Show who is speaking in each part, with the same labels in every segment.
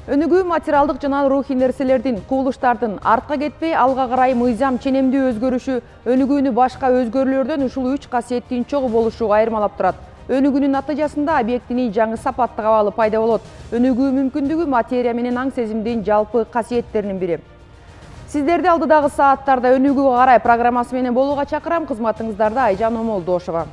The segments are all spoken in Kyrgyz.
Speaker 1: Өнүгүү материалдык жана рухий нерселердин, кубулуштардын артка кетпей алга карай мыйзам ченемдүү өзгөрүшү өнүгүүнү башка өзгөрүүлөрдөн ушул 3 касиеттин чогуу болушу айырмалап турат. Өнүгүүнүн натыйжасында объектинин жаңы сапаттык абалы пайда болот. Өнүгүү мүмкүндүгү материя менен аң сезимдин жалпы касиеттеринин бири. Сиздерди алдыдагы сааттарда өнүгүүгө карай программасы менен болууга чакырам. Кызматыңыздарда Айжан Омолдошова.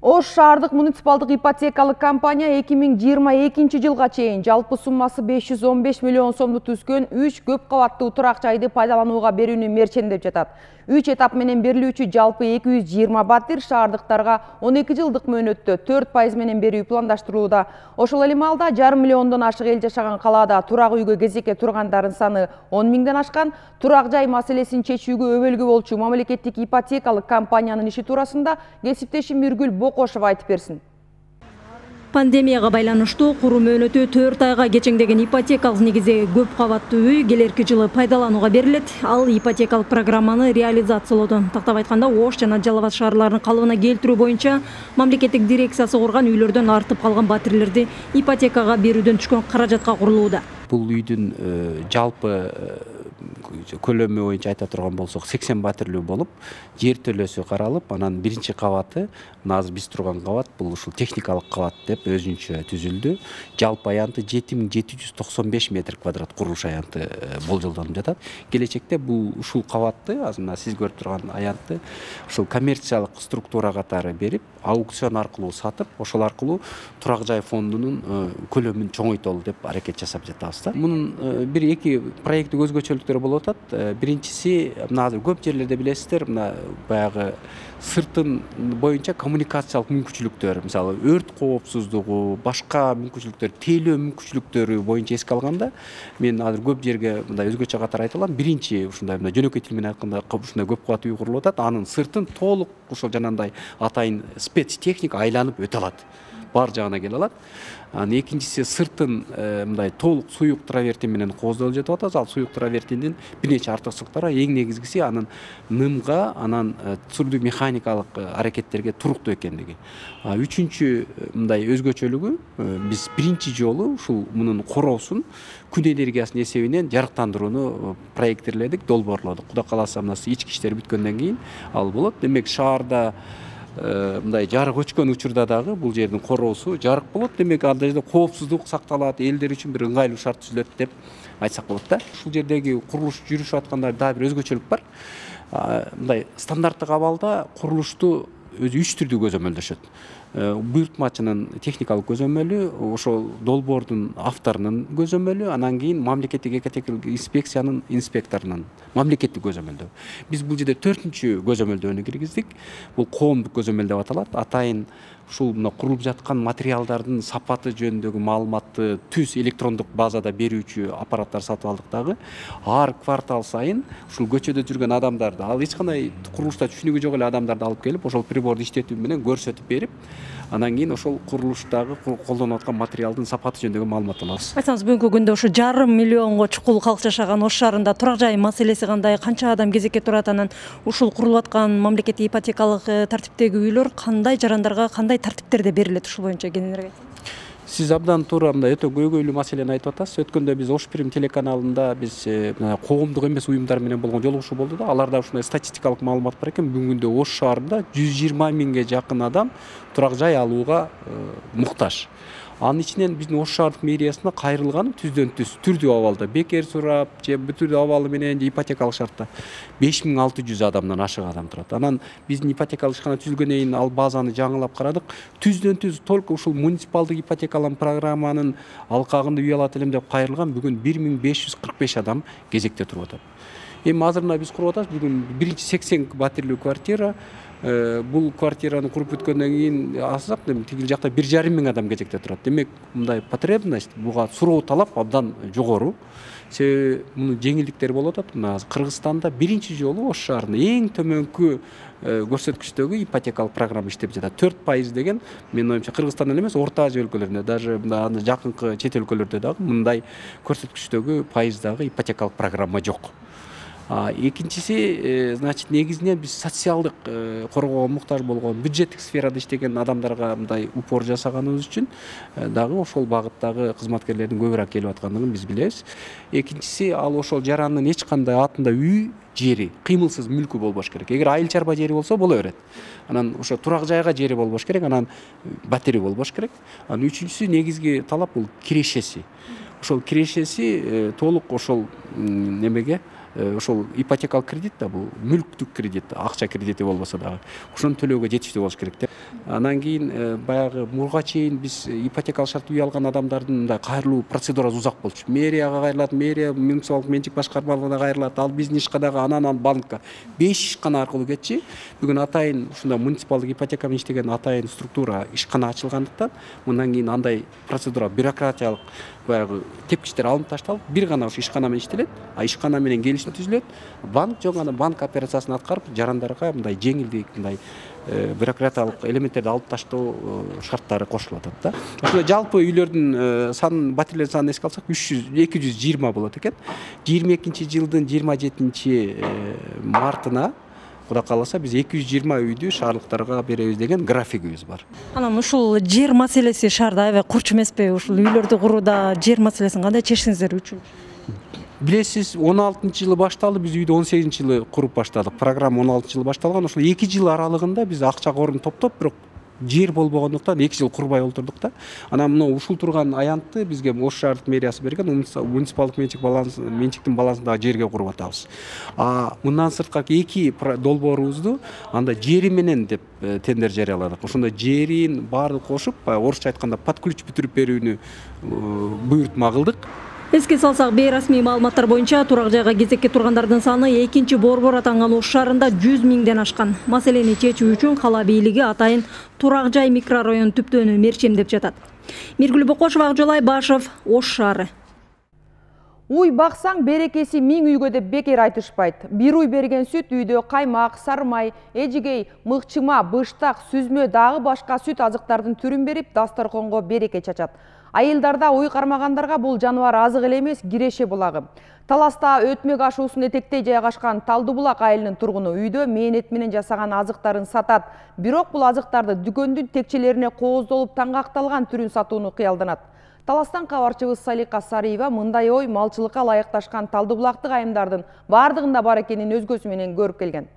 Speaker 1: Ош шаардык муниципалдык ипотекалык компания 2022 жылга чейин жалпы суммасы 515 миллион сомду түзгөн 3 көп кабаттуу турак жайды пайдаланууга берүүнү мерчендеп жатат. 3 этап менен берилүүчү жалпы 220 батир шаардыктарга 12 жылдык мөөнөттө 4% менен берүү пландаштырылууда. Ошол эле маалда 1,5 миллиондон ашык эл жашаган калаада турак үйгө кезекке тургандардын саны 10 миңден ашкан. Турак жай маселесин чечүүгө өбөлгү болчу мамлекеттик ипотекалык компаниянын иши туурасында кесиптешим Миргүл Бокошова айтып берсин.
Speaker 2: Пандемияга байланыштуу куруу мөөнөтү 4 айга кечеңдеген ипотекалык негиздеги көп кабаттуу үй келерки жылы пайдаланууга берилет. Ал ипотекалык программаны реализациялоодо, тактап айтканда, Ош жана Жалал Абад шаарларынын калыбына келтирүү боюнча мамлекеттик дирекциясы курган үйлөрдөн артып калган батирлерди ипотекага берүүдөн түшкөн каражатка курулууда.
Speaker 3: Бул үйдүн жалпы көлөмү боюнча айта турган болсок 80 батирлүү болуп, жер төлөөсү каралып, анан биринчи кабаты, азыр биз турган кабат бул ушул техникалык кабат деп өзүнчө түзүлдү. Жалпы аянты 7795 метр квадрат курулуш аянты болжолдонуп жатат. Келечекте бул ушул кабатты, азыр мына сиз көрүп турган аянтты ушул коммерциялык структура катары берип, аукцион аркылуу сатып, ошол аркылуу турак жай фондунун көлөмүн чоңойтолу деп аракет жасап жатабыз да. Мунун бир-эки проекттик өзгөчөлүктөрү болуп атат. Биринчиси, мына азыр көп жерлерде билесиздер, мына баягы сыртын боюнча коммуникациялык мүмкүнчүлүктөр, мисалы өрт коопсуздугу, башка мүмкүнчүлүктөр, тейлөө мүмкүнчүлүктөрү боюнча эске алганда, мен азыр көп жерге мындай өзгөчө катар айта алам. Биринчи ушундай жөнөкөй тил менен айтканда ушундай көп кабаттуу үй курулуп атат. Анын сыртын толук ошол жанагындай атайын спецтехника айланып өтө алат. Бар жагына келе алат. Анан экинчиси сыртын мындай толук суюк травертин менен кооздолуп жатып атат. Ал суюк травертиндин бир нече артыкчылыктары, эң негизгиси анын нымга, анан түрдүү механикалык аракеттерге туруктуу экендиги. Үчүнчү мындай өзгөчөлүгү, биз биринчи жолу ушул мунун короосун күн энергиясынын эсебинен жарыктандырууну проекттерледик, долбоорлодук. Кудай кааласа, мына ички иштер бүткөндөн кийин ал болот. Демек шаарда мындай жарык өчкөн учурда дагы бул жердин короосу жарык болот. Демек андай жерде коопсуздук сакталат, элдер үчүн бир ыңгайлуу шарт түзүлөт деп айтсак болот да. Ушул жердеги курулуш жүрүшүп атканда дагы бир өзгөчөлүк бар. Мындай стандарттык абалда курулушту өзү 3 түрдүү көзөмөлдөшөт. Буйртмачынын техникалык көзөмөлү, ошол долбоордун авторунун көзөмөлү, анан кийин мамлекеттик экотехникалык инспекциянын инспекторунун мамлекеттик көзөмөлдөө. Биз бул жерде 4-чү көзөмөлдөөнү киргиздик. Бул коомдук көзөмөл деп аталат. Атайын ушул мына курулуп жаткан материалдардын сапаты жөнүндөгү маалыматты түз электрондук базада берүүчү аппараттар сатып алдык дагы. Ар квартал сайын ушул көчөдө жүргөн адамдарды, ал эч кандай курулушта түшүнүгү жок эле адамдарды алып келип, ошол приборду иштетүү менен көрсөтүп берип, анан кийин ошол курулуштагы колдонуп аткан материалдын сапаты жөнүндөгү маалымат алабыз.
Speaker 2: Айтсаңыз, бүгүнкү күндө ушу 1,5 миллионго чукул калк жашаган Ош шаарында турак жай маселеси кандай, канча адам кезекке турат, анан ушул курулуп аткан мамлекеттик ипотекалык тартиптеги үйлөр кандай жарандарга, кандай тартиптерде берилет, ушул боюнча кененирээк айтсаңыз?
Speaker 3: Сиз абдан туура мындай өтө көйгөйлүү маселени айтып атасыз. Өткөндө биз Ош Прим телеканалында биз коомдук эмес уюмдар менен болгон жолугушуу болду да. Аларда ушундай статистикалык маалымат бар экен. Бүгүнкү күндө Ош шаарында 120 миңге жакын адам турак жай алууга муктаж. Анын ичинен биздин Ош шаардык мэриясына кайрылган түздөн-түз түрдүү абалда, бекер сурап же бүтүн абалы менен же ипотекалык шартта 5600 адамдан ашык адам турат. Анан биздин ипотекалык ишкана түзүлгөндөн кийин ал базаны жаңылап карадык. Түздөн-түз только ушул муниципалдык ипотекалык программанын алкагында үй алат элем деп кайрылган бүгүн 1545 адам кезекте туруп атат. Эми азыр биз куруп атабыз. Бүгүн биринчи 80 батирлүү квартира. Бул квартираны куруп бүткөндөн кийин асак тигил жакта 1,5 миң адам кезекте турат. Демек, мындай потребность, буга суроо талап абдан жогору. Себеби мунун жеңилдиктери болуп атат. Мына Кыргызстанда биринчи жолу Ош шаарында эң төмөнкү көрсөткүчтөгү ипотекалык программа иштеп жатат. 4% деген, менин оюмча, Кыргызстанда эле эмес, Орто Азия өлкөлөрүндө, даже мына жакынкы чет өлкөлөрдө дагы мындай көрсөткүчтөгү пайыздагы ипотекалык программа жок. Экинчиси, значит, негизинен биз социалдык коргоого муктаж болгон бюджеттик сферада иштеген адамдарга мындай упор жасаганыбыз үчүн дагы ошол багыттагы кызматкерлердин көбүрөөк келип аткандыгын биз билебиз. Экинчиси, ал ошол жарандын эч кандай атында үй, жери, кыймылсыз мүлкү болбош керек. Эгер айыл чарба жери болсо боло берет. Анан ошо турак жайга жери болбош керек, анан батири болбош керек. Анан үчүнчүсү негизги талап бул кирешеси. Ошол кирешеси толук ошол немеге, ошол ипотекалык кредит да, бул мүлктүк кредит, акча кредити болбосо дагы ошону төлөөгө жетиштүү болуш керек да. Анан кийин баягы мурга чейин биз ипотекалык шарт үй алган адамдардын мындай кайрылуу процедурасы узак болчу. Мэрияга кайрылат, мэрия муниципалдык менчик башкармалыгына кайрылат, ал биздин ишканага, анан банкка 5 ишкана аркылуу кетчи. Бүгүн атайын ушундай муниципалдык ипотека менен иштеген атайын структура ишкана ачылгандыктан мындан кийин андай процедура, бюрократиялык баягы тепкичтер алынып ташталып, бир гана ошо ишкана менен иштелет. Ишкана менен келишим түзүлөт. Банк жок гана банк операциясын аткарып, жарандарга мындай жеңилдик, мындай бюрократиялык элементтерди алып таштоо шарттары кошулуп атат да. Ошондой жалпы үйлөрдүн санын, батирлердин санын эске алсак 220 болот экен. 22-жылдын 27-мартына Кудай кааласа биз 220 үйдү шаарлыктарга беребиз деген графигибиз бар.
Speaker 2: Анан ушул жер маселеси шаарда аябай курч эмеспи? Ушул үйлөрдү курууда жер маселесин кандай чечтиңиздер үчүн?
Speaker 3: Билесиз, 16-жылы башталды, биз үйдү 18-жылы куруп баштадык. Программа 16-жылы башталган. Ошол 2 жыл аралыгында биз акча корун топтоп, бирок жер болбогондуктан 2 жыл курбай олтурдук да. Анан мына ушул турган аянтты бизге Ош шаардык мэриясы берген, муниципалдык менчиктин балансындагы жерге куруп атабыз. Мындан сырткары 2 долбоорубузду анда жери менен деп тендер жарыяладык. Ошондо жерин баардык кошуп, орусча айтканда под ключ бүтүрүп берүүнү буйрутма кылдык.
Speaker 2: Эске салсак, бейрасмий маалыматтар боюнча турак жайга кезекке тургандардын саны 2-борбор атанган Ош шаарында 100 миңден ашкан. Маселени чечүү үчүн кала бийлиги атайын турак жай микрорайон түптөөнү мерчемдеп жатат. Миргүл Бокошева, Акжол Айбашев, Ош шаары.
Speaker 1: Уй баксаң берекеси 1000 үйгө деп бекер айтышпайт. Бир уй берген сүт үйдө каймак, сармай, эжигей, мыкчыма, быштак, сүзмө дагы башка сүт азыктардын түрүн берип, дасторконго береке чачат. Айылдарда уй кармагандарга бул жаныбар азык эле эмес, киреше булагы. Таласта өтмөк ашуусун этектей жайгашкан Талдыбулак айылынын тургуну үйдө мээнет менен жасаган азыктарын сатат. Бирок бул азыктарды дүкөндүн текчелерине кооздолуп таңгакталган түрүн сатууну кыялданат. Таластан кабарчыбыз Салика Сариева мындай ой малчылыкка ылайыкташкан Талдыбулактык айымдардын бардыгында бар экенин өзгөсү менен көрүп келген.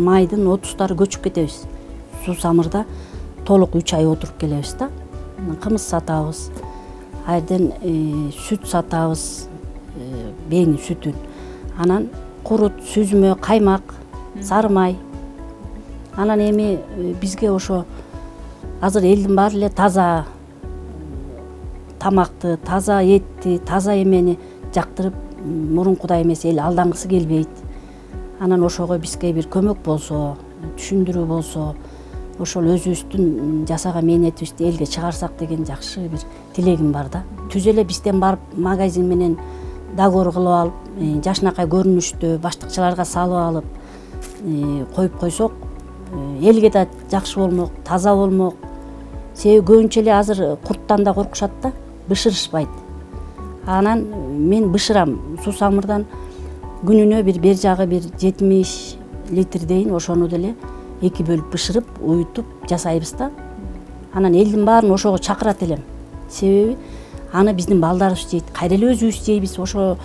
Speaker 4: Майдын 30-тары көчүп кетебиз. Суу самырда толук 3 ай отуруп келебиз да. Кымыз сатабыз. Айрден сүт сатабыз, бейни сүтүн. Анан курут, сүзмө, каймак, сары май. Анан эми бизге ошо азыр элдин баары эле таза тамакты, таза этти, таза эмени жактырып, мурункудай эмес эл алдангысы келбейт. Анан ошого бизге бир көмөк болсо, түшүндүрүү болсо, ошол өзүбүздүн жасаган мээнетибизди элге чыгарсак деген жакшы бир тилегим бар да. Түз эле бизден барып магазин менен договор кылып алып, жашынакай көрүнүштө баштыкчаларга салып алып коюп койсок, элге да жакшы болмок, таза болмок. Себеби көбүнчө эле азыр курттан да коркушат да, бышырышпайт. Анан мен бышырам, суусамырдан күнүнө бер жагы бир 70 литрдейин ошону деле 2 бөлүп бышырып, уютуп жасайбыз да. Анан элдин баарын ошого чакырат элем. Себеби аны биздин балдарыбыз жейт, кайра эле өзүбүз жейбиз. Ошону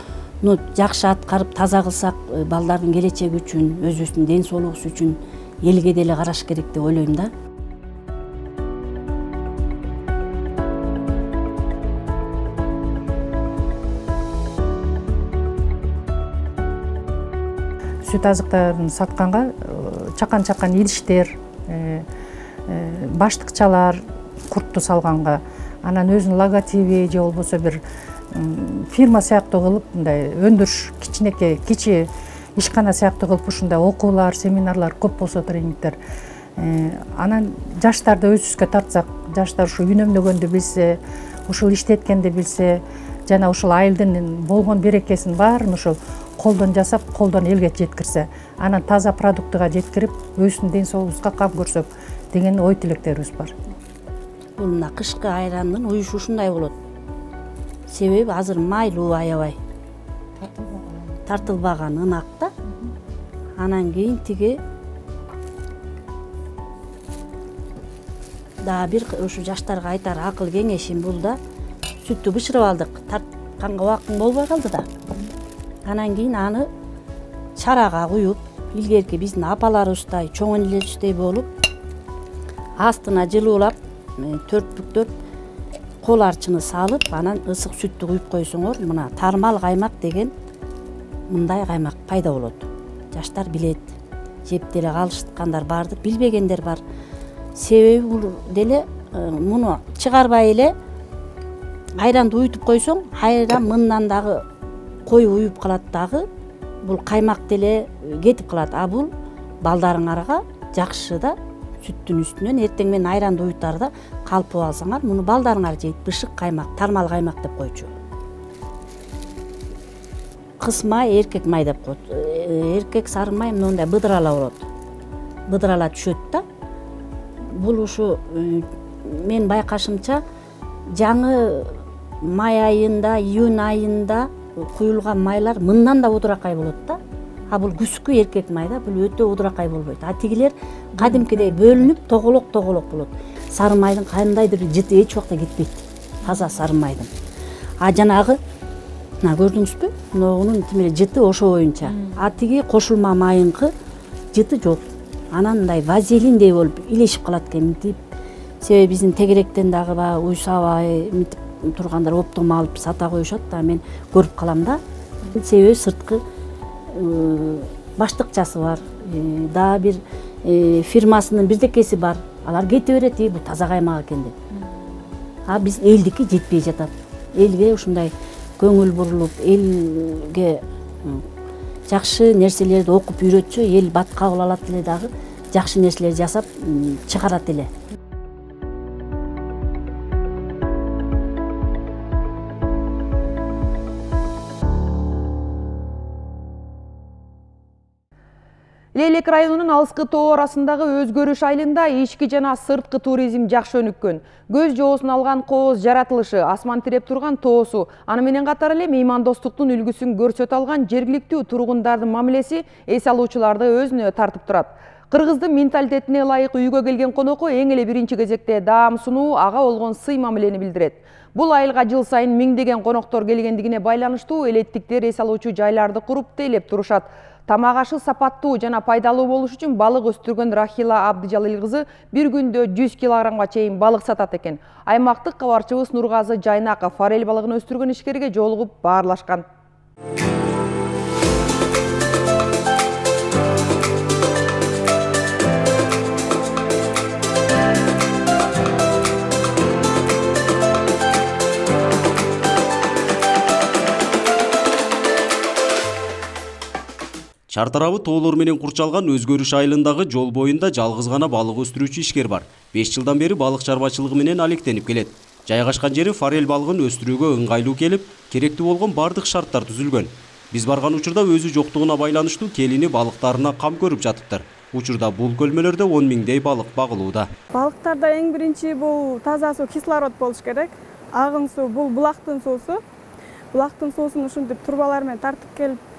Speaker 4: жакшы аткарып, таза кылсак, балдардын келечеги үчүн, өзүбүздүн ден соолугубуз үчүн элге деле караш керек деп ойлойм да.
Speaker 5: Сүт азыктарын сатканга чакан идиштер, баштыкчалар куртту салганга, анан өзүнүн логотиби же болбосо бир фирма сыяктуу кылып, мындай өндүрүш кичи ишкана сыяктуу кылып ушундай окуулар, семинарлар көп болсо, тренингдер. Анан жаштарды өзүбүзгө тартсак, жаштар ушу үнөмдөгөндү билсе, ушул иштеткенди билсе, жана ушул айылдын болгон берекесин баарын ушул колдон жасап, колдон элге жеткирсе, анан таза продуктыга жеткирип, өзүбүздүн ден соолугубузга кам көрсөк деген ой тилектерибиз бар.
Speaker 4: Бул мына кышкы айрандын уюшу ушундай болот. Себеби азыр майлуу аябай. Тартылбаган ынак да. Анан кийин тиги дагы бир ушу жаштарга айтар акыл кеңешим бул да, сүттү бышырып алдык, тартканга убактың болбой калды да. Анан кийин аны чарага куюп, илгерки биздин апаларыбыздай, чоң энелерибиздей болуп, астына жылуулап, төртбүктөп, кол арчыны салып, анан ысык сүттү куюп койсоңор, мына тармал каймак деген мындай каймак пайда болот. Жаштар билет, жеп деле калышкандар бардыр, билбегендер бар. Себеби бул деле муну чыгарбай эле айранды уютуп койсоң, айран мындан дагы кою уюп калат дагы, бул каймак деле кетип калат. А бул балдарыңарга жакшы да, сүттүн үстүнөн эртең менен айранды уютарда калпып алсаңар, муну балдарыңар жейт, бышык каймак, тармал каймак деп койчу. Кыз май, эркек май деп коет. Эркек сары май мындай быдырала болот. Быдырала түшөт да. Бул ушу мен байкашымча жаңы май айында, июнь айында куюлган майлар мындан да удуракай болот да. А бул күзгү эркек май да, бул өтө удуракай болбойт. А тигилер кадимкидей бөлүнүп, тоголок болот. Сары майдын кандайдыр бир жыты эч убакта кетпейт. Таза сары майдын. А жанагы мына көрдүңүзбү? Мунун тимеле жыты ошо боюнча. А тиги кошулма майынкы жыты жок. Анан мындай вазелиндей болуп илешип калат экен мынтип. Себеби биздин тегеректен дагы баягы уйсабай мынтип тургандар оптом алып сата коюшат да, мен көрүп калам да. Себеби сырткы баштыкчасы бар, дагы бир фирмасынын бирдекеси бар. Алар кете берет, бул таза каймак экен деп. А биз элдики жетпей жатат. Элге ушундай көңүл бурулуп, элге жакшы нерселерди окуп үйрөтсө, эл бат кабыл алат эле дагы, жакшы нерселер жасап чыгарат эле.
Speaker 1: Лейлек районунун алыскы тоо арасындагы Өзгөрүш айылында ички жана сырткы туризм жакшы өнүккөн. Көз жоосун алган кооз жаратылышы, асман тиреп турган тоосу, аны менен катар эле меймандостуктун үлгүсүн көрсөтө алган жергиликтүү тургундардын мамилеси эс алуучуларды өзүнө тартып турат. Кыргыздын менталитетине ылайык үйгө келген конокко эң эле биринчи кезекте даам сунуу, ага болгон сый мамилени билдирет. Бул айылга жыл сайын миңдеген коноктор келгендигине байланыштуу элеттиктер эс алуучу жайларды куруп тейлеп турушат. Тамак ашы сапаттуу жана пайдалуу болуш үчүн балык өстүргөн Рахила Абдыжалил кызы бир күндө 100 килограммга чейин балык сатат экен. Аймактык кабарчыбыз Нургазы Жайнаков форель балыгын өстүргөн ишкерге жолугуп баарлашкан.
Speaker 6: Чар тарабы тоолор менен курчалган Өзгөрүш айылындагы жол боюнда жалгыз гана балык өстүрүүчү ишкер бар. 5 жылдан бери балык чарбачылыгы менен алектенип келет. Жайгашкан жери форель балыгын өстүрүүгө ыңгайлуу келип, керектүү болгон бардык шарттар түзүлгөн. Биз барган учурда өзү жоктугуна байланыштуу келини балыктарына кам көрүп жатыптыр. Учурда бул көлмөлөрдө 10 миңдей балык багылууда.
Speaker 7: Балыктарда эң биринчи бул таза суу, кислород болуш керек. Агын суу бул булактын суусу. Булактын суусун ушинтип турбалар менен тартып келип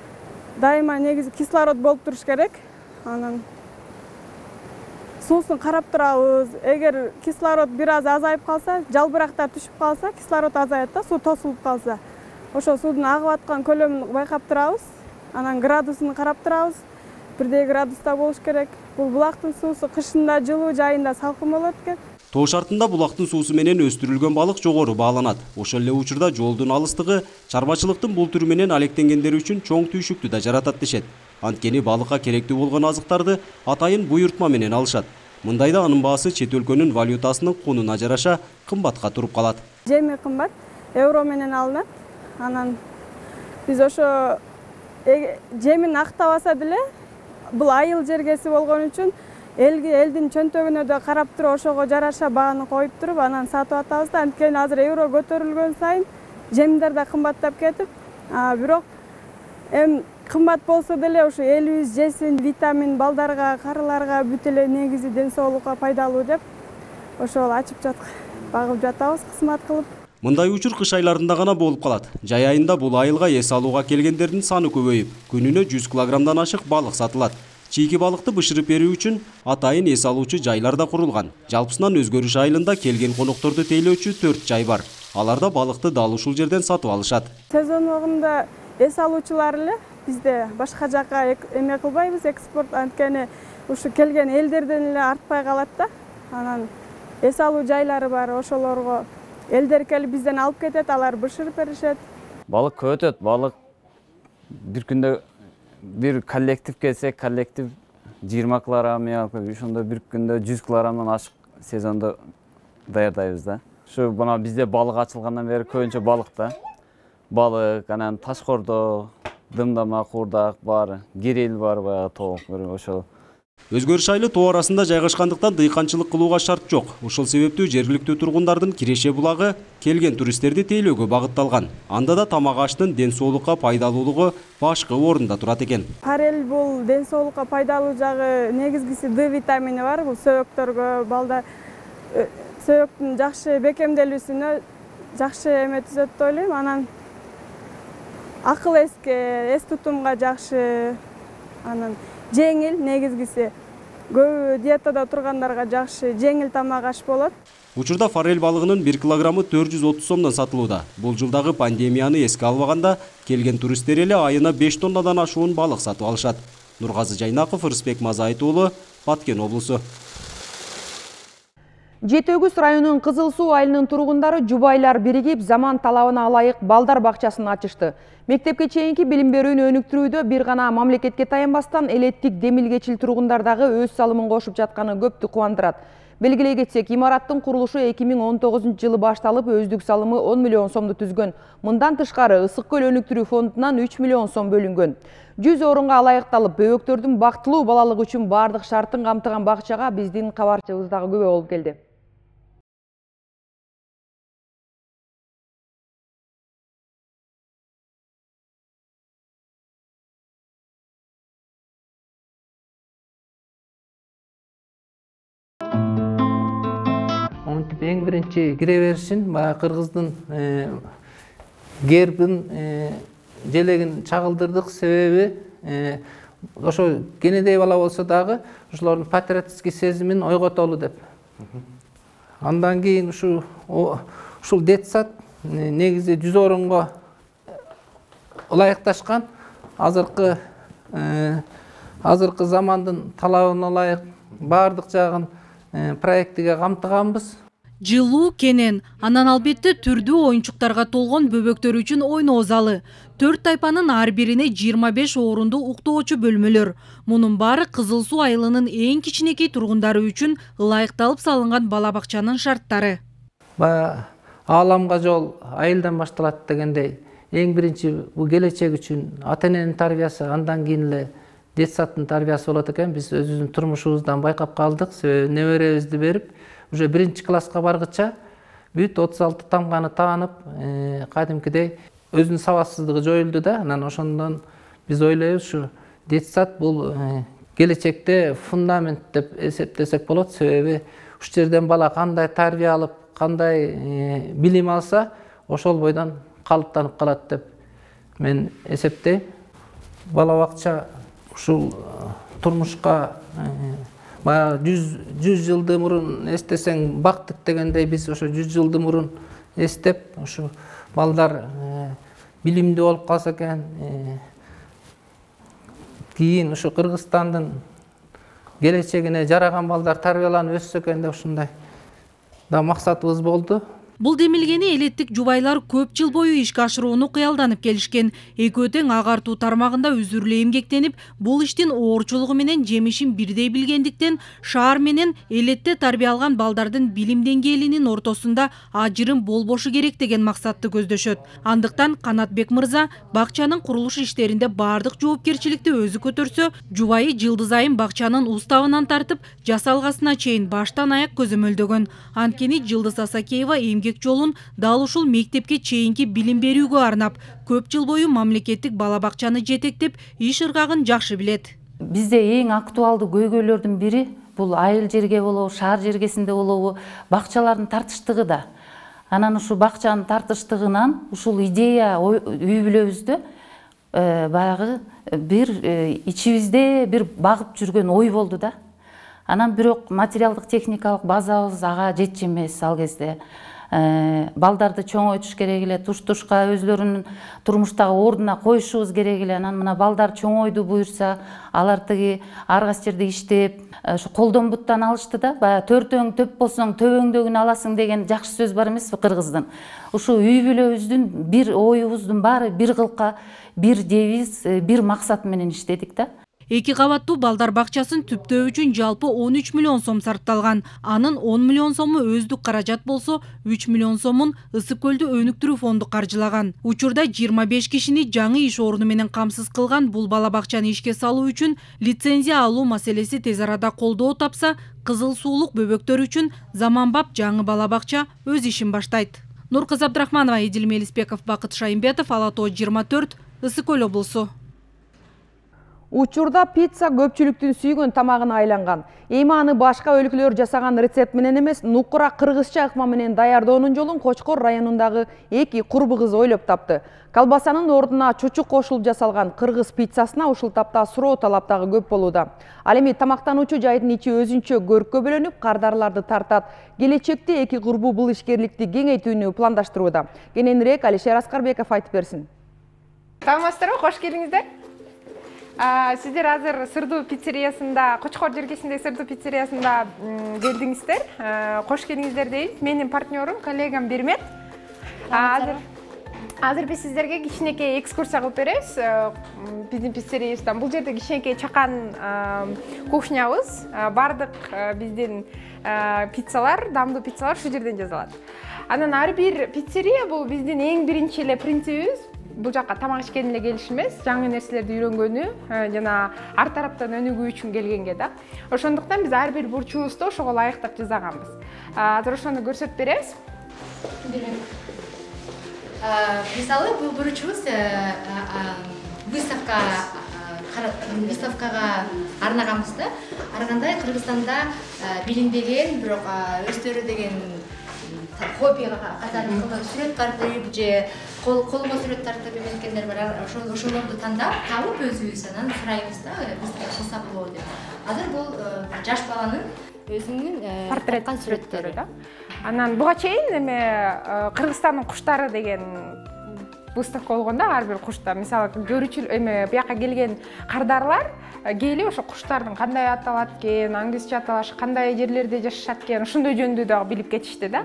Speaker 7: дайыма негизи кислород болуп туруш керек. Анан суусун карап турабыз. Эгер кислород бир аз азайып калса, жалбырактар түшүп калса, кислород азаят да, суу тосулуп калса. Ошо суудун агып аткан көлөмүн байкап турабыз. Анан градусун карап турабыз. Бирдей градуста болуш керек. Бул булактын суусу кышында жылуу, жайында салкын болот экен.
Speaker 6: Тоо шартында булактын суусу менен өстүрүлгөн балык жогору бааланат. Ошол эле учурда жолдун алыстыгы чарбачылыктын бул түрү менен алектенгендер үчүн чоң түйшүктү да жаратат дешет. Анткени балыкка керектүү болгон азыктарды атайын буйртма менен алышат. Мындайда анын баасы чет өлкөнүн валютасынын кунуна жараша кымбатка туруп калат.
Speaker 7: Жеми кымбат, евро менен алынат. Анан биз ошо жемин актабаса деле бул айыл жергеси болгон үчүн элдин чөнтөгүнө да карап туруп ошого жараша бааны коюп туруп анан сатып атабыз да. Анткени азыр евро көтөрүлгөн сайын жемдер да кымбаттап кетип, бирок эми кымбат болсо деле ушу элибиз жесин, витамин балдарга, карыларга бүт эле негизи ден соолукка пайдалуу деп ошол ачып багып жатабыз кызмат кылып.
Speaker 6: Мындай учур кыш айларында гана болуп калат. Жай айында бул айылга эс алууга келгендердин саны көбөйүп, күнүнө 100 килограммдан ашык балык сатылат. Чийки балыкты бышырып берүү үчүн атайын эс алуучу жайлар да курулган. Жалпысынан Өзгөрүш айылында келген конокторду тейлөөчү 4 жай бар. Аларда балыкты дал ушул жерден сатып алышат.
Speaker 7: Сезон убагында эс алуучулар эле бизде башка жака эме кылбайбыз, экспорт, анткени ушу келген элдерден эле артпай калат да. Анан эс алуу жайлары бар, ошолорго элдер келип бизден алып кетет, алар бышырып беришет.
Speaker 8: Балык көп өтөт, балык бир күндө бир коллектив келсе, коллектив 20 килограмм, ошондо бир күндө 100 килограммдан ашык сезондо даярдайбыз да. Ушу мына бизде балык ачылгандан бери көбүнчө балык да. Балык, анан ташкордо, дымдама, курдак бар, керел бар, баягы тоок ошол.
Speaker 6: Өзгөрүш айылы тоо арасында жайгашкандыктан дыйканчылык кылууга шарт жок. Ошол себептүү жергиликтүү тургундардын киреше булагы келген туристтерди тейлөөгө багытталган. Анда да тамак аштын ден соолукка пайдалуулугу башкы орунда турат экен.
Speaker 7: Форель бул ден соолукка пайдалуу жагы негизгиси Д витамини бар. Бул сөйөктөргө, балдар сөйөктүн жакшы бекемделүүсүнө жакшы эме түзөт деп ойлойм. Анан акыл эс тутумга жакшы, анан жеңил, негизгиси көбү диетада тургандарга жакшы, жеңил тамак аш болот.
Speaker 6: Учурда форель балыгынын 1 килограммы 430 сомдон сатылууда. Бул жылдагы пандемияны эске албаганда келген туристтер эле айына 5 тоннадан ашуун балык сатып алышат. Нургазы Жайнаков, Рысбек Мазайыт уулу, Баткен облусу.
Speaker 1: Жети Өгүз районунун Кызыл Суу айылынын тургундары жубайлар биригип заман талабына ылайык балдар бакчасын ачышты. Мектепке чейинки билим берүүнү өнүктүрүүдө бир гана мамлекетке таянбастан элеттик демилгечил тургундардагы өз салымын кошуп жатканы көптү кубандырат. Белгилей кетсек, имараттын курулушу 2019 жылы башталып, өздүк салымы 10 миллион сомду түзгөн. Мындан тышкары Ысык көл өнүктүрүү фондунан 3 миллион сом бөлүнгөн. 100 орунга ылайыкталып, бөбөктөрдүн бактылуу балалык үчүн бардык шартын камтыган бакчага биздин кабарчыбыз дагы күбө болуп келди.
Speaker 9: Эң биринчи кире беришин баягы кыргыздын гербин желегин чагылдырдык. Себеби ошо кенедей бала болсо дагы ошолордун патриотический сезимин ойготолу деп. Андан кийин ушул детсад негизи 100 орунга ылайыкташкан. Азыркы азыркы замандын талабына ылайык баардык жагын проектиге камтыганбыз.
Speaker 10: Жылуу кенен, анан албетте түрдүү оюнчуктарга толгон бөбөктөр үчүн ойноо залы. 4 тайпанын ар бирине 25 орунду уктоочу бөлмөлөр. Мунун баары Кызыл Суу айылынын эң кичинекей тургундары үчүн ылайыкталып салынган бала бакчанын шарттары.
Speaker 9: Баягы ааламга жол айылдан башталат дегендей, эң биринчи бул келечек үчүн ата эненин тарбиясы, андан кийин эле детсадтын тарбиясы болот экен. Биз өзүбүздүн турмушубуздан байкап калдык. Себеби неберебизди берип, уже 1-класска баргыча бүт 36 тамганы таанып, кадимкидей өзүнүн сабатсыздыгы жоюлду да. Анан ошондон биз ойлойбуз, ушу детсад бул келечекте фундамент деп эсептесек болот. Себеби ушул жерден бала кандай тарбия алып, кандай билим алса, ошол бойдон калыптанып калат деп мен эсептейм. Бала бакча ушул турмушка баягы 100 жылды мурун эстесең бактык дегендей, биз ошо 100 жылды мурун эстеп, ушу балдар билимдүү болуп калса экен, кийин ушу Кыргызстандын келечегине жараган балдар тарбияланып өссө экен деп ушундай да максатыбыз болду.
Speaker 10: Бул демилгени элеттик жубайлар көп жыл бою ишке ашырууну кыялданып келишкен. Экөө тең агартуу тармагында үзүрлүү эмгектенип, бул иштин оорчулугу менен жемишин бирдей билгендиктен, шаар менен элетте тарбия алган балдардын билим деңгээлинин ортосунда ажырым болбошу керек деген максатты көздөшөт. Андыктан Канатбек мырза бакчанын курулуш иштеринде баардык жоопкерчиликти өзү көтөрсө, жубайы Жылдыз Айым бакчанын уставынан тартып, жасалгасына чейин баштан аяк көзөмөлдөгөн. Анткени Жылдыз Асакеева жолун дал ушул мектепке чейинки билим берүүгө арнап, көп жыл бою мамлекеттик бала бакчаны жетектеп, иш ыргагын жакшы билет.
Speaker 11: Бизде эң актуалдуу көйгөйлөрдүн бири бул айыл жерге болобу, шаар жергесинде болобу, бакчалардын тартыштыгы да. Анан ушу бакчанын тартыштыгынан ушул идея үй бүлөбүздө баягы бир ичибизде бир багып жүргөн ой болду да. Анан бирок материалдык техникалык базабыз ага жетчү эмес ал кезде. Балдарды чоңойтуш керек эле, туш-тушка өзлөрүнүн турмуштагы ордуна коюшубуз керек эле. Анан мына балдар чоңойду буюрса, алар тиги ар кайсы жерде иштеп, ушу колдон буттан алышты да. Баягы төртөң төп болсоң төбөңдөгүн аласың деген жакшы сөз бар эмеспи кыргыздын. Ушу үй бүлөбүздүн бир оюбуздун баары бир кылка, бир девиз, бир максат менен иштедик да.
Speaker 10: 2 кабаттуу балдар бакчасын түптөө үчүн жалпы 13 миллион сом сарпталган. Анын 10 миллион сому өздүк каражат болсо, 3 миллион сомун Ысык көлдү өнүктүрүү фонду каржылаган. Учурда 25 кишини жаңы иш орну менен камсыз кылган бул бала бакчаны ишке салуу үчүн лицензия алуу маселеси тез арада колдоо тапса, Кызыл Суулук бөбөктөр үчүн заманбап жаңы бала бакча өз ишин баштайт. Нуркыз Абдрахманова, Эдил Мелиспеков, Бакыт Шайымбетов, Ала Тоо 24, Ысык көл облусу.
Speaker 1: Учурда пицца көпчүлүктүн сүйгөн тамагына айланган. Эми аны башка өлкөлөр жасаган рецепт менен эмес, нукура кыргызча ыкма менен даярдоонун жолун Кочкор районундагы 2 курбу кыз ойлоп тапты. Колбасанын ордуна чучук кошулуп жасалган кыргыз пиццасына ушул тапта суроо талап дагы көп болууда. Ал эми тамактануучу жайдын ичи өзүнчө көрккө бөлөнүп, кардарларды тартат. Келечекте 2 курбу бул ишкерликти кеңейтүүнү пландаштырууда. Кененирээк Алишер Аскарбеков айтып берсин.
Speaker 12: Саламатсыздарбы, кош келиңиздер. Сиздер азыр Сырдуу пиццериясында, Кочкор жергесиндеги Сырдуу пиццериясында келдиңиздер. Кош келиңиздер дейт. Менин партнерум, коллегам Бермет. Азыр биз сиздерге кичинекей экскурсия кылып беребиз. Биздин пиццериядан бул жерде кичинекей чакан кухнябыз. Бардык биздин пиццалар, дамдуу пиццалар ушул жерден жасалат. Анан ар бир пиццерия бул биздин эң биринчи эле принцибибиз. Бул жакка тамак ишкени эле келиш эмес, жаңы нерселерди үйрөнгөнү, жана ар тараптан өнүгүү үчүн келгенге да. Ошондуктан биз ар бир бурчубузду ошого ылайыктап жасаганбыз. Азыр ошону көрсөтүп беребиз.
Speaker 13: Мисалы, бул бурчубуз выставкага арнаганбыз да. Аргандай Кыргызстанда билинбеген, бирок өздөрү деген хоббига катары сүрөт тартып же колго сүрөт тартып үйрөнгөндөр бар. Ошолорду табып өзүбүз анан сурайбыз да, бизге кылса болобу деп. Азыр бул жаш баланын өзүнүн
Speaker 12: портреттик сүрөттөрү да. Анан буга чейин эме Кыргызстандын куштары деген выставка болгондо ар бир кушта мисалы көрүүчү эме бияка келген кардарлар келип ошо куштардын кандай аталат экен, аңгизче аталышы, кандай жерлерде жашашат экен, ошондой жөнүндө дагы билип кетишти да.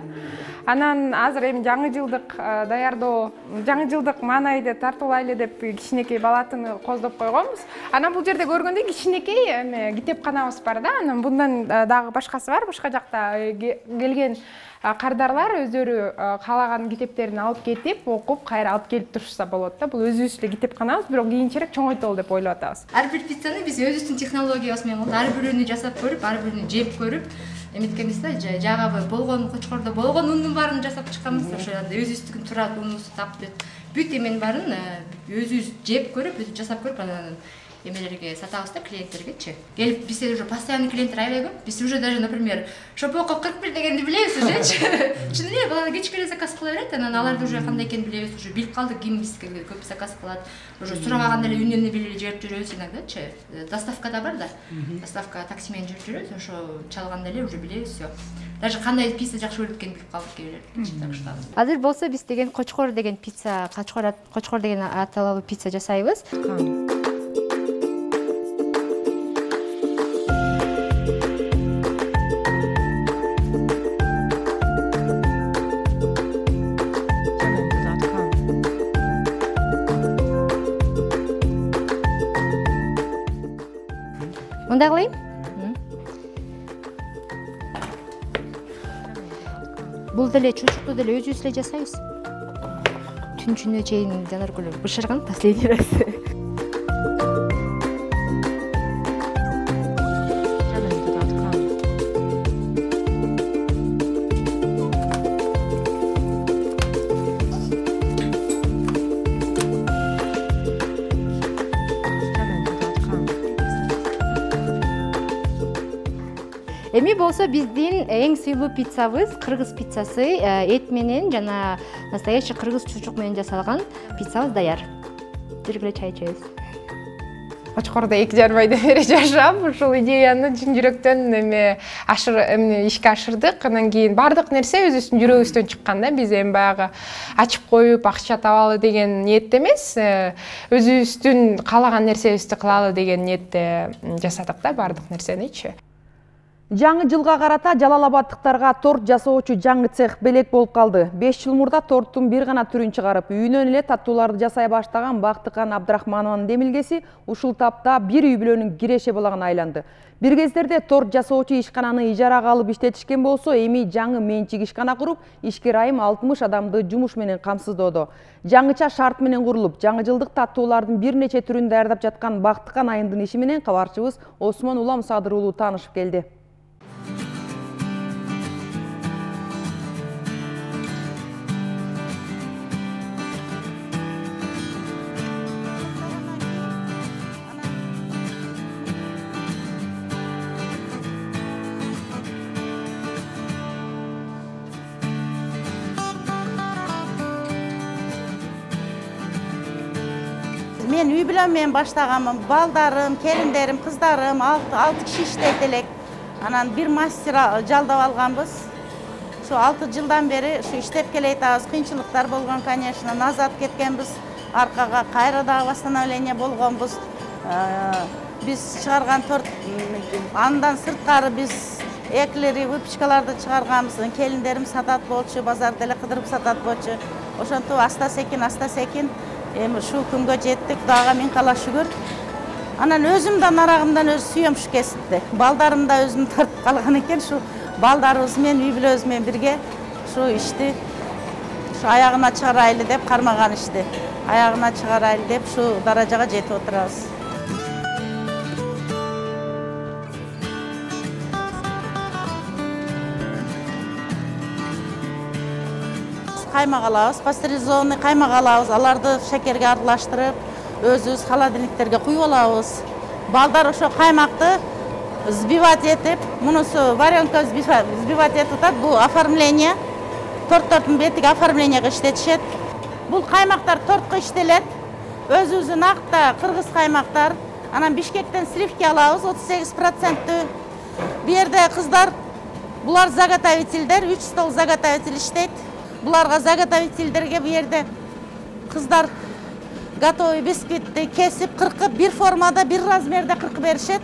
Speaker 12: Анан азыр эми жаңы жылдык даярдоо, жаңы жылдык маанайды тартуулайлы деп кичинекей балатыны коздоп койгонбуз. Анан бул жерде көргөндөй кичинекей эме китепканабыз бар да. Анан bundan дагы башкасы бар, башка жакта келген кардарлар өздөрү каалаган китептерин алып кетип, окуп, кайра алып келип турушса болот да. Бул өзүбүз эле китепканабыз, бирок кийинчерээк чоңойтолу деп ойлоп атабыз.
Speaker 13: Ар бир пиццаны биз өзүбүздүн технологиябыз менен ар бирөөнү жасап көрүп, ар бирини жеп көрүп, эметкенбиз да, жагабы болгон кочкордо болгон ундун баарын жасап чыкканбыз. Ошо өзүбүздүн турат унубузду таптып, бүт эменин баарын өзүбүз жеп көрүп, өзүбүз жасап көрүп, анан эмелерге сатабыз да, клиенттергечи. Келип бизде уже постоянный клиенттер аябай көп. Биз уже даже, например, шопоков 41 дегенди билебиз ужечи. Чын эле балдар кечке эле заказ кыла берет, анан аларды уже кандай экенин билебиз, уже билип калдык, ким бизге көп заказ кылат. Уже сурабаганда эле үнүнө билип жиберип жүрөбүз иногдачы. Доставкада бар да. Доставка такси менен жүрүп жүрөбүз, ошо чалганда эле уже билебиз всё. Даже кандай пицца жакшы көрөт экенин билип калдык кээ. Азыр болсо биз деген кочкор деген пицца, кочкор деген аталуу пицца жасайбыз. Мындай кылайын? Бул деле чучукту деле өзүбүз эле жасайбыз. Түнчүнө чейин жанаргүл бышырган последний раз. Эми болсо биздин эң сыйлуу пиццабыз кыргыз пиццасы, эт менен жана настоящий кыргыз чучук менен жасалган пиццабыз даяр. Жүргүлө чай ичебиз.
Speaker 12: Кочкордо 2,5 айдан бери жашап, ушул идеяны чын жүрөктөн ишке ашырдык. Анан кийин бардык нерсе өзүбүздүн жүрөгүбүздөн чыккан да. Биз эми баягы ачып коюп акча табалы деген ниетте эмес, өзүбүздүн каалаган нерсебизди кылалы деген ниетте жасадык да бардык нерсеничи.
Speaker 1: Жаңы жылга карата Жалал Абаддыктарга торт жасоочу жаңы цех белек болуп калды. 5 жыл мурда торттун бир гана түрүн чыгарып, үйүнөн эле таттууларды жасай баштаган Бактыкан Абдрахманованын демилгеси ушул тапта бир үй бүлөнүн киреше балагына айланды. Бир кездерде торт жасоочу ишкананы ижарага алып иштетишкен болсо, эми жаңы менчик ишкана куруп, ишкер айым 60 адамды жумуш менен камсыздоодо. Жаңыча шарт менен курулуп, жаңы жылдык таттуулардын бир нече түрүн даярдап жаткан Бактыкан айымдын иши менен кабарчыбыз Осмон Улам Садыр уулу таанышып келди.
Speaker 14: Мен үй бүлөм менен баштаганмын. Балдарым, келиндерим, кыздарым 6 киши иштейт элек. Анан бир мастер жалдап алганбыз. Şu 6 жылдан бери şu иштеп келатабыз. Кыйынчылыктар болгон, конечно, назад кеткенбиз. Аркага кайра дагы восстановление болгонбуз. Биз чыгарган торт, андан сырткары биз эклери, выпечкаларды чыгарганбыз. Келиндерим сатат болчу, базарда эле кыдырып сатат болчу. Ошонтип аста секин эми şu күнгө жеттик, Кудайга миң кала шүгүр. Анан өзүмдөн арагымдан өзү сүйөм şu кесипти. Балдарым да өзүм тартып калган экен, şu балдарыбыз менен үй бүлөбүз менен бирге şu ишти şu аягына чыгарайлы деп кармаган ишти. Аягына чыгарайлы деп şu даражага жетип отурабыз. Каймак алабыз, пастеризованный каймак алабыз, аларды шекерге аралаштырып, өзүбүз холодильниктерге куюп алабыз. Балдар ошо каймакты взбивать этип, мунусу варенка взбивать этип атат, бул оформление, торттордун бетиге оформлениеге иштетишет. Бул каймактар тортко иштелет, өзүбүздүн акта кыргыз каймактар. Анан Бишкектен сливки алабыз, 38%. Бу жерде кыздар, булар заготовительдер, 3 стол заготовитель иштейт. Буларга заготовительдерге бу жерде кыздар готовый бисквитти кесип кыркып, бир формада, бир размерде кыркып беришет.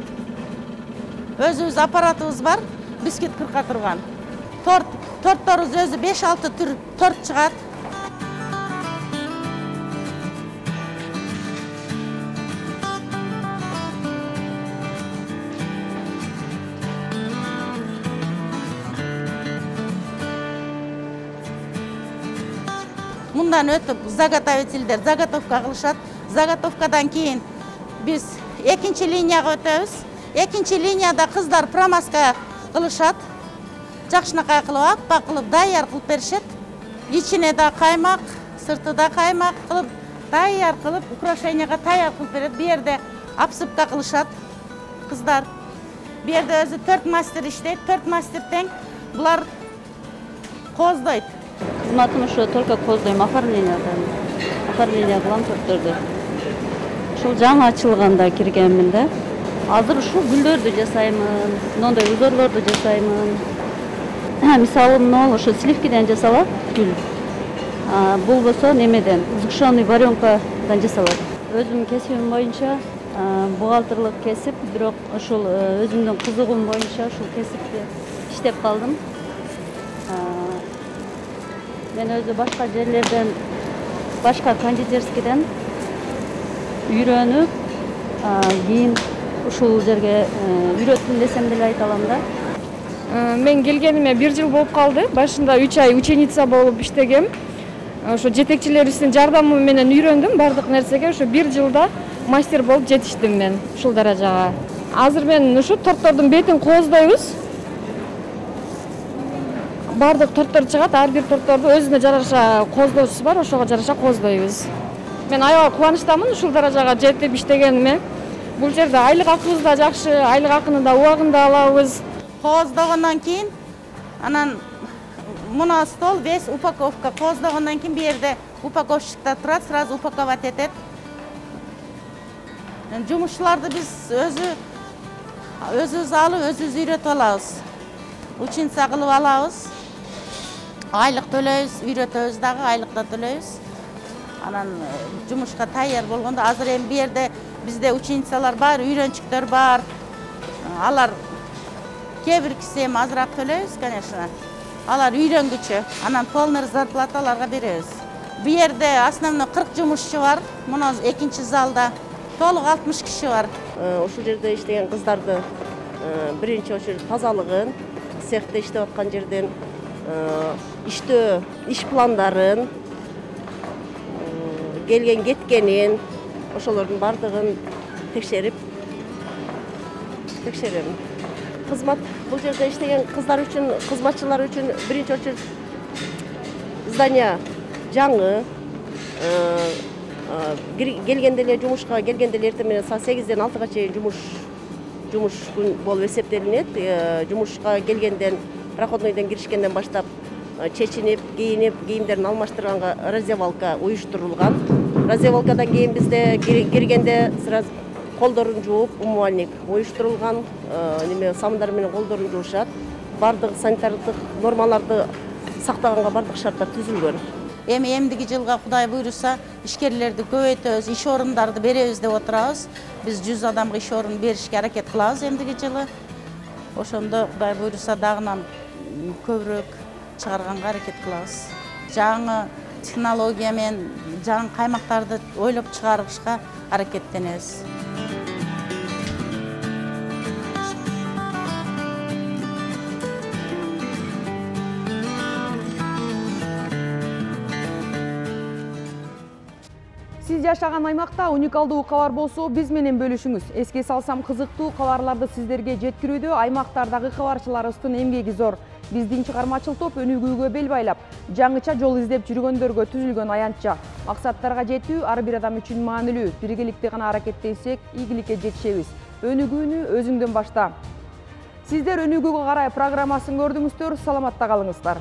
Speaker 14: Өзүбүз аппаратыбыз бар, бисквит кырка турган. Тортторубуз өзү 5-6 түр торт чыгат. Мындан өтүп заготовительдер заготовка кылышат. Заготовкадан кийин биз экинчи линияга өтөбүз. Экинчи линияда кыздар промазка кылышат. Жакшынакай кылып, аппак кылып, даяр кылып беришет. Ичине да каймак, сырты да каймак кылып, даяр кылып, украшенияга даяр кылып берет. Бу жерде обсыпка кылышат кыздар. Бу жерде өзү 4 мастер иштейт, 4 мастер тең. Булар коздойт.
Speaker 4: Кызматым ушу только коздойм, оформление кылам тортторду. Ушул жаңы ачылганда киргенмин да. Азыр ушул гүлдөрдү жасаймын, мындай узорлорду жасаймын. Мисалы, ошо сливкиден жасалат гүл. Болбосо немеден, сгущенный варенкадан жасалат. Өзүмдүн кесибим боюнча бухгалтерлык кесип, бирок ошол өзүмдүн кызыгуум боюнча ушул кесипти иштеп калдым. Мен өзү башка жерлерден, башка кондитерскийден үйрөнүп, кийин ушул жерге үйрөттүм десем деле айта алам да.
Speaker 15: Мен келгениме 1 жыл болуп калды. Башында 3 ай ученица болуп иштегем. Ошо жетекчилерибиздин жардамы менен үйрөндүм бардык нерсеге. Ошо 1 жылда мастер болуп жетиштим мен ушул даражага. Азыр мен ушу тортордун бетин коздойбуз. Бардык торттор чыгат, ар бир торторду өзүнө жараша коздоочусу бар, ошого жараша коздойбуз. Мен аябай кубанычтамын ушул даражага жетип иштегениме. Бул жерде айлык акыбыз да жакшы, айлык акыны да убагында алабыз.
Speaker 14: Коздогондон кийин анан мына стол весь упаковка. Коздогондон кийин бу жерде упаковщиктер турат, сразу упаковать этет. Жумушчуларды биз өзүбүз алып, өзүбүз үйрөтүп алабыз. Ученица кылып алабыз. Айлык төлөйбүз, үйрөтөбүз дагы, айлык да төлөйбүз. Анан жумушка даяр болгондо азыр эми бу жерде бизде ученицалар бар, үйрөнчүктөр бар. Алар кээ биркиси эми азыраак төлөйбүз, конечно. Алар үйрөнгүчө, анан полный зарплата аларга беребиз. Бу жерде основной 40 жумушчу бар. Мына экинчи залда толук 60 киши бар.
Speaker 16: Ушул жерде иштеген кыздарды биринчи очередь тазалыгын, цехте иштеп аткан жерден иштөө, иш пландарын, келген кеткенин, ошолордун бардыгын текшерем. Кызмат бул жерде иштеген кыздар үчүн, кызматчылар үчүн биринчи очередь здание жаңы, келгенде эле жумушка келгенде эле эртең менен саат 8-ден 6-га чейин жумуш күн болуп эсептелинет. Жумушка келгенден, проходнойдон киришкенден баштап чечинип, кийинип, кийимдерин алмаштырганга раздевалка уюштурулган. Раздевалкадан кийин бизде киргенде сразу колдорун жууп, умывальник уюштурулган, сабындар менен колдорун жуушат. Бардык санитардык нормаларды сактаганга бардык шарттар түзүлгөн.
Speaker 14: Эми эмдиги жылга Кудай буйруса, ишкерлерди көбөйтөбүз, иш орундарды беребиз деп отурабыз. Биз 100 адамга иш орун беришке аракет кылабыз эмдиги жылы. Ошондо Кудай буйруса дагынан көбүрөөк чыгарганга аракет кылабыз. Жаңы технология менен жаңы каймактарды ойлоп чыгарышка аракеттенебиз.
Speaker 1: Сиз жашаган аймакта уникалдуу кабар болсо, биз менен бөлүшүңүз. Эске салсам, кызыктуу кабарларды сиздерге жеткирүүдө аймактардагы кабарчыларыбыздын эмгеги зор. Биздин чыгармачыл топ өнүгүүгө бел байлап, жаңыча жол издеп жүргөндөргө түзүлгөн аянтча. Максаттарга жетүү ар бир адам үчүн маанилүү. Биргеликте гана аракеттенсек, ийгиликке жетишебиз. Өнүгүүнү өзүңдөн башта. Сиздер өнүгүүгө карай программасын көрдүңүздөр, саламатта калыңыздар.